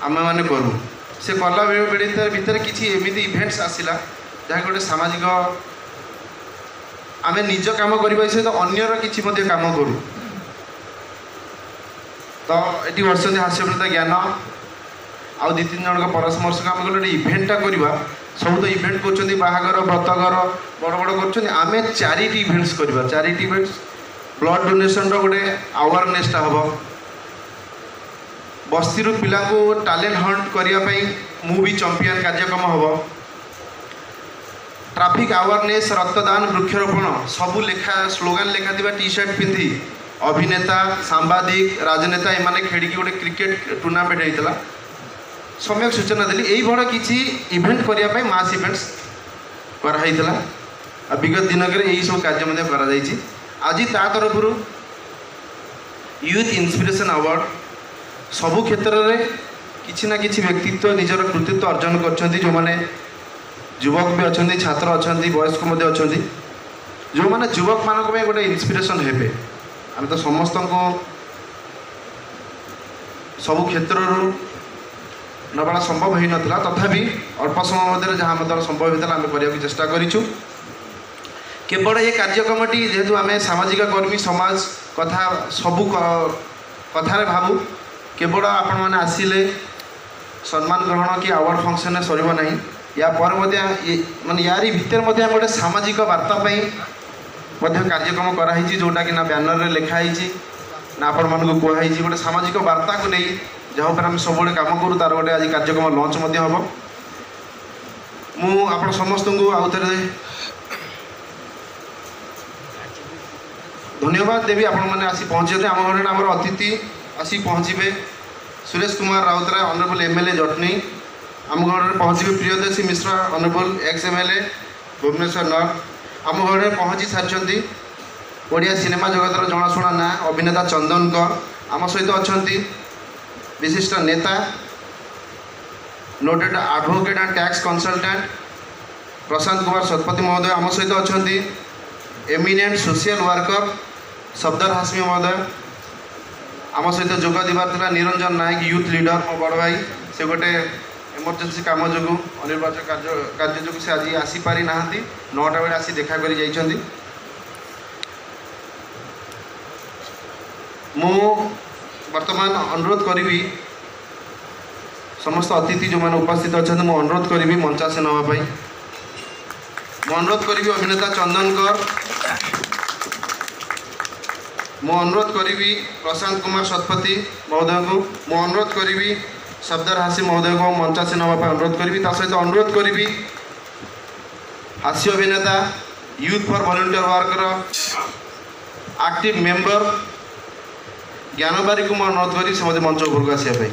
ଆମେମାନେ କରୁ। ସେ କଲା ବେଳେ ଭିତରେ କିଛି ଏମିତି ଇଭେଣ୍ଟସ୍ ଆସିଲା ଯାହା ଗୋଟେ ସାମାଜିକ, ଆମେ ନିଜ କାମ କରିବା ସହିତ ଅନ୍ୟର କିଛି ମଧ୍ୟ କାମ କରୁ। ତ ଏଠି ବସିଛନ୍ତି ହାସ୍ୟ ଅଭିନେତା ଜ୍ଞାନ ଆଉ 2-3 ଜଣଙ୍କ ପରାମର୍ଶକୁ ଆମେ କହିଲୁ ଗୋଟେ ଇଭେଣ୍ଟଟା କରିବା। ସବୁ ତ ଇଭେଣ୍ଟ କରୁଛନ୍ତି, ବାହାଘର ବ୍ରତଘର ବଡ଼ ବଡ଼ କରୁଛନ୍ତି, ଆମେ ଚାରିଟି ଇଭେଣ୍ଟସ୍ କରିବା। ଚାରିଟି ଇଭେଣ୍ଟସ୍, ବ୍ଲଡ଼ ଡୋନେସନ୍ର ଗୋଟେ ଆୱାରନେସ୍ଟା ହେବ, ବସ୍ତିରୁ ପିଲାଙ୍କୁ ଟ୍ୟାଲେଣ୍ଟ ହଣ୍ଟ କରିବା ପାଇଁ ମୁଁ ବି ଚମ୍ପିଆନ୍ କାର୍ଯ୍ୟକ୍ରମ ହେବ, ଟ୍ରାଫିକ୍ ଆୱାରନେସ୍, ରକ୍ତଦାନ, ବୃକ୍ଷରୋପଣ ସବୁ ଲେଖା ସ୍ଲୋଗାନ ଲେଖା ଥିବା ଟି ସାର୍ଟ ପିନ୍ଧି ଅଭିନେତା, ସାମ୍ବାଦିକ, ରାଜନେତା ଏମାନେ ଖେଳିକି ଗୋଟେ କ୍ରିକେଟ ଟୁର୍ଣ୍ଣାମେଣ୍ଟ ହେଇଥିଲା। ସମ୍ୟକ ସୂଚନା ଦେଲି। ଏଇଭଳି କିଛି ଇଭେଣ୍ଟ କରିବା ପାଇଁ ମାସ୍ ଇଭେଣ୍ଟସ୍ କରାହେଇଥିଲା ଆଉ ବିଗତ ଦିନକରେ ଏଇସବୁ କାର୍ଯ୍ୟ ମଧ୍ୟ କରାଯାଇଛି। ଆଜି ତା ତରଫରୁ ୟୁଥ୍ ଇନ୍ସପିରେସନ୍ ଆୱାର୍ଡ଼, ସବୁ କ୍ଷେତ୍ରରେ କିଛି ନା କିଛି ବ୍ୟକ୍ତିତ୍ୱ ନିଜର କୃତିତ୍ୱ ଅର୍ଜନ କରିଛନ୍ତି, ଯେଉଁମାନେ ଯୁବକ ବି ଅଛନ୍ତି, ଛାତ୍ର ଅଛନ୍ତି, ବୟସ୍କ ମଧ୍ୟ ଅଛନ୍ତି, ଯେଉଁମାନେ ଯୁବକମାନଙ୍କ ପାଇଁ ଗୋଟେ ଇନ୍ସପିରେସନ୍ ହେବେ। ଆମେ ତ ସମସ୍ତଙ୍କୁ ସବୁ କ୍ଷେତ୍ରରୁ ନେବାଟା ସମ୍ଭବ ହୋଇନଥିଲା, ତଥାପି ଅଳ୍ପ ସମୟ ମଧ୍ୟରେ ଯାହା ଆମ ଦ୍ୱାରା ସମ୍ଭବ ହୋଇଥିଲା ଆମେ କରିବାକୁ ଚେଷ୍ଟା କରିଛୁ। କେବଳ ଏ କାର୍ଯ୍ୟକ୍ରମଟି ଯେହେତୁ ଆମେ ସାମାଜିକ କର୍ମୀ, ସମାଜ କଥା ସବୁ କଥାରେ ଭାବୁ, କେବଳ ଆପଣମାନେ ଆସିଲେ ସମ୍ମାନ ଗ୍ରହଣ କି ଆୱାର୍ଡ଼ ଫଙ୍କସନ୍ରେ ସରିବ ନାହିଁ। ୟା ପରେ ମଧ୍ୟ ମାନେ ୟାରି ଭିତରେ ମଧ୍ୟ ଆମେ ଗୋଟେ ସାମାଜିକ ବାର୍ତ୍ତା ପାଇଁ ମଧ୍ୟ କାର୍ଯ୍ୟକ୍ରମ କରାହେଇଛି, ଯେଉଁଟାକି ନା ବ୍ୟାନରରେ ଲେଖା ହେଇଛି ନା ଆପଣମାନଙ୍କୁ କୁହାହେଇଛି। ଗୋଟେ ସାମାଜିକ ବାର୍ତ୍ତାକୁ ନେଇ ଯାହା ଉପରେ ଆମେ ସବୁବେଳେ କାମ କରୁ, ତାର ଗୋଟେ ଆଜି କାର୍ଯ୍ୟକ୍ରମ ଲଞ୍ଚ ମଧ୍ୟ ହେବ। ମୁଁ ଆପଣ ସମସ୍ତଙ୍କୁ ଆଉ ଥରେ ଧନ୍ୟବାଦ ଦେବି, ଆପଣମାନେ ଆସି ପହଞ୍ଚିଛନ୍ତି। ଆମ ଘରେ ଆମର ଅତିଥି ଆସି ପହଞ୍ଚିବେ, Suresh Kumar Routray honourable MLA Jatani, ଆମ ଘରେ ପହଞ୍ଚିବେ Priyadarshi Mishra honourable ex MLA Bhubaneswar north, ଆମ ଘରେ ପହଞ୍ଚି ସାରିଛନ୍ତି ଓଡ଼ିଆ ସିନେମା ଜଗତର ଜଣାଶୁଣା ନାଁ ଅଭିନେତା ଚନ୍ଦନଙ୍କ, ଆମ ସହିତ ଅଛନ୍ତି ବିଶିଷ୍ଟ ନେତା, noted advocate and tax consultant Prashant Kumar Satapathy ମହୋଦୟ ଆମ ସହିତ ଅଛନ୍ତି, ଏମିନେଣ୍ଟ ସୋସିଆଲ ୱାର୍କର ସଫଦର ହାସମି ମହୋଦୟ ଆମ ସହିତ ଯୋଗ ଦେବାର ଥିଲା, ନିରଞ୍ଜନ ନାୟକ ୟୁଥ୍ ଲିଡର ମୋ ବଡ଼ ଭାଇ, ସେ ଗୋଟେ ଏମର୍ଜେନ୍ସି କାମ ଯୋଗୁଁ ଅନିବାର୍ଯ୍ୟ କାର୍ଯ୍ୟ ଯୋଗୁଁ ସେ ଆଜି ଆସିପାରି ନାହାନ୍ତି, 9ଟା ବେଳେ ଆସି ଦେଖା କରି ଯାଇଛନ୍ତି। ମୁଁ ବର୍ତ୍ତମାନ ଅନୁରୋଧ କରିବି ସମସ୍ତ ଅତିଥି ଯେଉଁମାନେ ଉପସ୍ଥିତ ଅଛନ୍ତି, ମୁଁ ଅନୁରୋଧ କରିବି ମଞ୍ଚାସୀନ ହେବା ପାଇଁ। ମୁଁ ଅନୁରୋଧ କରିବି ଅଭିନେତା ଚନ୍ଦନ କର, ମୁଁ ଅନୁରୋଧ କରିବି ପ୍ରଶାନ୍ତ କୁମାର ଶତପଥୀ ମହୋଦୟଙ୍କୁ, ମୁଁ ଅନୁରୋଧ କରିବି ସଫଦର ହାସି ମହୋଦୟଙ୍କୁ ମଞ୍ଚାସୀନ ହେବା ପାଇଁ ଅନୁରୋଧ କରିବି। ତା ସହିତ ଅନୁରୋଧ କରିବି ହାସ୍ୟ ଅଭିନେତା, youth for volunteer worker active member ଜ୍ଞାନବାରୀକୁ ମୁଁ ଅନୁରୋଧ କରିବି ସେ ମଧ୍ୟ ମଞ୍ଚ ଉପରକୁ ଆସିବା ପାଇଁ।